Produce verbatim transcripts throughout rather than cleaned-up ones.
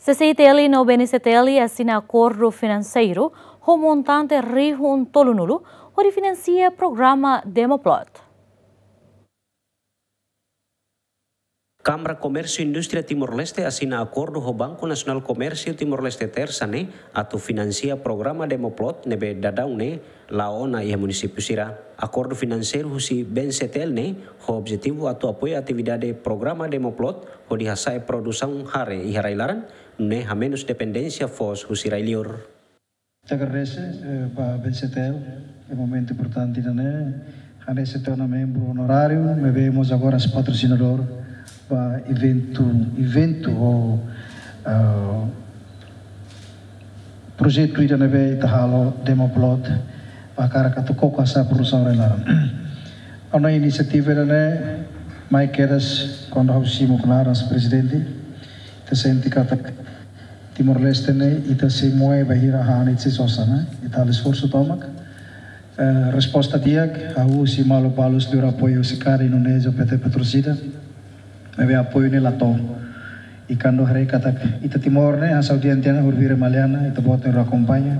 CCI-TL no BNCTL asina akordu finanseiru ho montante rihun tolunulu hodi finansia programa Demoplot. Kámara Komérsiu Indústria Timor-Leste asina akordu ho Banku Nasionál Komérsiu Timor-Leste, Tersa ne'e, atu finansia programa Demoplot ne'ebé daudaun ne'e la'o ona iha munisípiu sira. Akordu finanseiru husi BNCTL ne'e ho objetivu atu apoiu atividade programa Demoplot hodi hasa'e produsaun hare iha rai-laran, nune'e hamenus dependénsia foos husi rai-liur. Ita agradese, eh, ba BNCTL, iha momentu importante ida-ne'e, hanesan tiha ona membru onoráriu, maibé mós agora sei patrosinadór ba eventu, eventu ou, ah, projetu ida ne'ebé ita halo Demoplot, ba hakarak atu koko hasa'e produsaun rai-laran. Ona inisiativa ida-ne'e, mai kedas, kuandu ha'u simu knaar hanesan prezidente, ita sente katak Timor-Leste ne'e, ita sei moe bainhira han ita sei sosa, ne'e? Ita halo esforsu tomak. Eh, resposta di'ak, hahú husi maluk balu sira apoiu husi CARI, Indonézia, P T Petrocida. Maibé apoiu ne'e la to'o. I kuandu haree katak ita Timor ne'e, hanesan ohin tiha ona, horibainhira Maliana, ita-boot ne'e akompaña.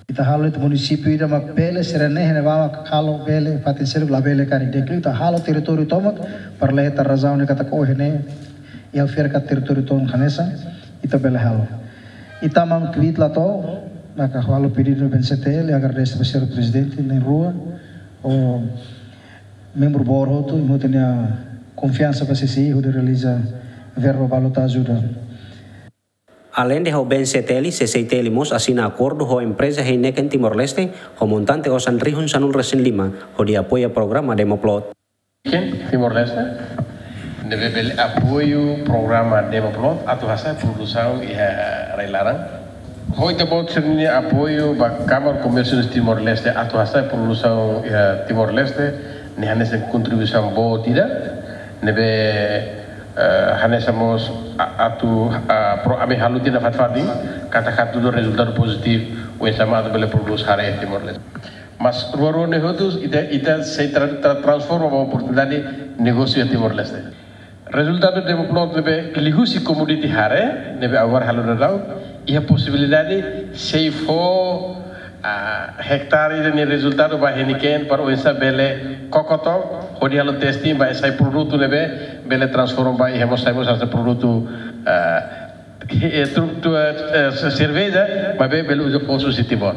Ita halo iha munisípiu ida mak bele, sira-ne'e iha ne'ebá mak halo bele, fatin seluk labele karik di'ak liu, ita halo territóriu tomak, para la hetan razaun ne'e katak ohin ne'e, iha fiar katak territóriu tomak hanesan, ita bele halo. Ita mak kbiit la to'o, maka halo pedidu ba BNCTL, agradese ba señór prezidente, na'in-rua, ho membru boot hotu, i mós ita-nia konfiansa ba CCI, hodi realiza verba balu atu ajuda. Aleinde ho BNCTL, CCI-TL mós asina akordu ho empreza Heineken Timor-Leste, ho montante osan rihun sanulu-resin-lima, hodi apoia programa Demoplot. Heineken Timor-Leste, ne'ebé bele apoiu programa Demoplot, atu hasa'e produsaun iha rai-laran. Ho ita-boot sira-nia apoiu ba Kámara Komérsiu Timor-Leste, atu hasa'e produsaun iha Timor-Leste, ne'e hanesan kontribuisaun boot ida, ne'ebé eh, hanesan mós a-, atu, ah, pro-, ami halo tiha ona fatin-fatin, katak hatudu rezultadu pozitivu, oinsá mak atu bele prodús hare iha Timor-Leste. Mas rua-rua ne'e hotu, ita, ita sei tra-, tra-, transforma ba oportunidade negósiu iha Timor-Leste. Rezultadu Demoplot ne'ebé liuhusi komoditi hare, ne'ebé agora halo daudaun, iha posibilidade sei fó ah, hektare ida-ne'e rezultadu ba Heineken para oinsá bele koko took, hodi halo testing ba sai produtu ne'ebé bele transforma ba iha mós sai mós sai produtu, ah, eh, tru-, tu, eh, eh, se-, serveja, maibé bele uza foos husi Timor.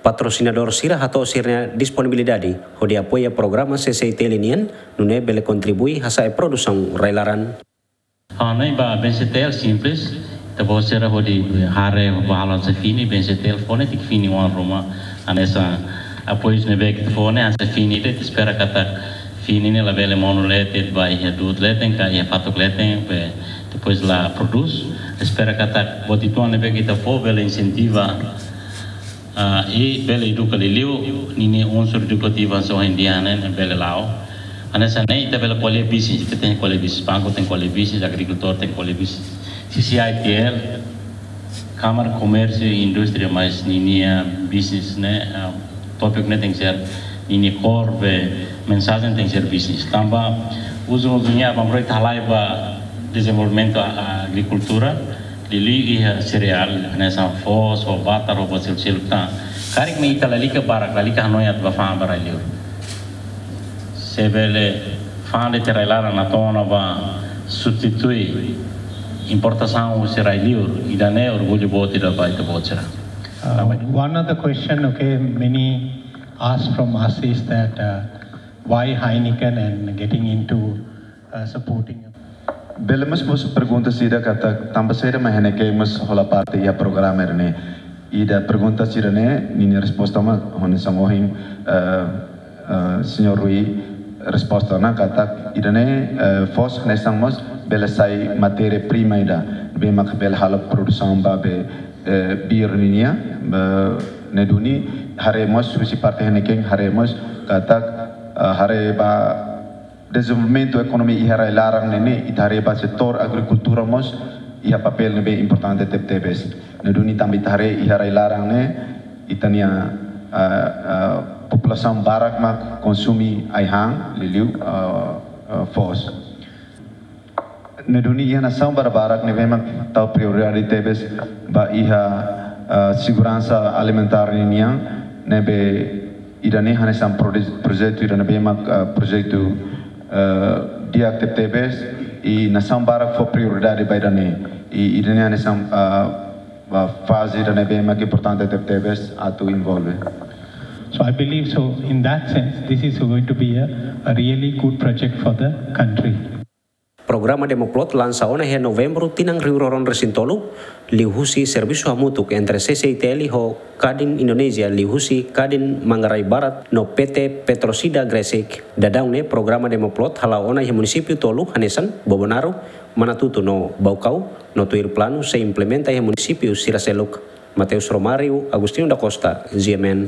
Patrosinadór sira hato'o sira-nia disponibilidade hodi apoia programa CCI-TL nian, nune'e bele kontribui hasa'e produsaun rai-laran. Ah, ne'e ba BNCTL simples, ita-boot sira hodi hare ba halo hanesan fini, BNCTL fó ne'e tenke fini oan ruma, hanesan apoiu ne'ebé ita fó ne'e hanesan fini, ita espera katak fini ne'e labele monu leten, ba iha du'ut leten, ka iha fatuk leten, be depois la prodús, espera katak buat uitoan ne'ebé ita fó bele insentiva, ah, i bele eduka liuliu, ninia unsur edukativu hanesan ohin tiha ona ne'e bele la'o. Hanesan ne'e ita bele ko'alia bisnis, ita tenke ko'alia bisnis, banku tenke ko'alia bisnis, agrikultór tenke ko'alia bisnis. CCI-TL, Kámara Komérsiu i Indústria, mas ninia bisnis ne'e, ah, tópiku ne'e tenke ser, ninia core be mensajen tenke ser bisnis. Tanba ujung-ujungnya, bang proyek halai ba dezenvolvimentu, ah, agrikultura, liuliu iha sereál, hanesan foos, ho batar, ho buat seluk-seluk tan. Karik mak ita lalika barak, lalika hanoin atu bá fa'an ba rai-liur. Se bele fa'an de'it iha rai-laran, atu ona ba substitui importasaun husi rai-liur, ida-ne'e orgullu boot ida ba ita-boot sira. Uh, one other question, okay, many ask from us is that, uh, why Heineken and getting into, uh, supporting? Bele mós, mós pergunta sira katak tanba saida mak Heineken mós hola parte iha programa ne'e. Ida pergunta sira-ne'e, ninia resposta mak hanesan ohin, eh, eh, señór Rui resposta ona katak ida-ne'e, eh, foos hanesan mós bele sai matéria prima ida, ne'ebé mak bele halo produsaun ba be, eh, bir ninia, eh, ne'e duni haree mós husi parte Heineken haree mós katak, eh, haree ba dezenvolvimentu ekonomia iha rai-laran ne'e, ne'e ita haree ba setór agrikultura mós iha papél ne'ebé importante tebetebes. Ne'e duni tanba ita haree iha rai-laran ne'e ita-nia, ah, ah, populasaun barak mak konsume ai-han, liuliu, ah, ah, foos. Ne'e duni iha nasaun barak-barak ne'ebé mak tau prioridade tebes ba iha, ah, seguransa alimentár ninian, ne'ebé ida-ne'e hanesan prode-, projetu ida ne'ebé mak, ah, projetu, ah, di'ak tebetebes, i nasaun barak fó prioridade ba ida-ne'e. I ida-ne'e hanesan, ah, ba faze ida ne'ebé mak importante tebetebes atu envolve. So I believe so in that sense, this is going to be a, a really good project for the country. Programa Demoplot lansa ona iha Novembru tinan rihun rua ruanulu-resin-tolu, liuhusi servisu hamutuk entre C C I T L ho Kadin Indonézia liuhusi Kadin Manggarai Barat no P T Petrosida Gresik. Daudaun ne'e programa Demoplot hala'o ona iha munisípiu tolu hanesan Bobonaro, Manatuto no Baucau, no tuir planu sei implementa iha munisípiu sira seluk. Mateus Romário, Agostinho da Costa, G M N.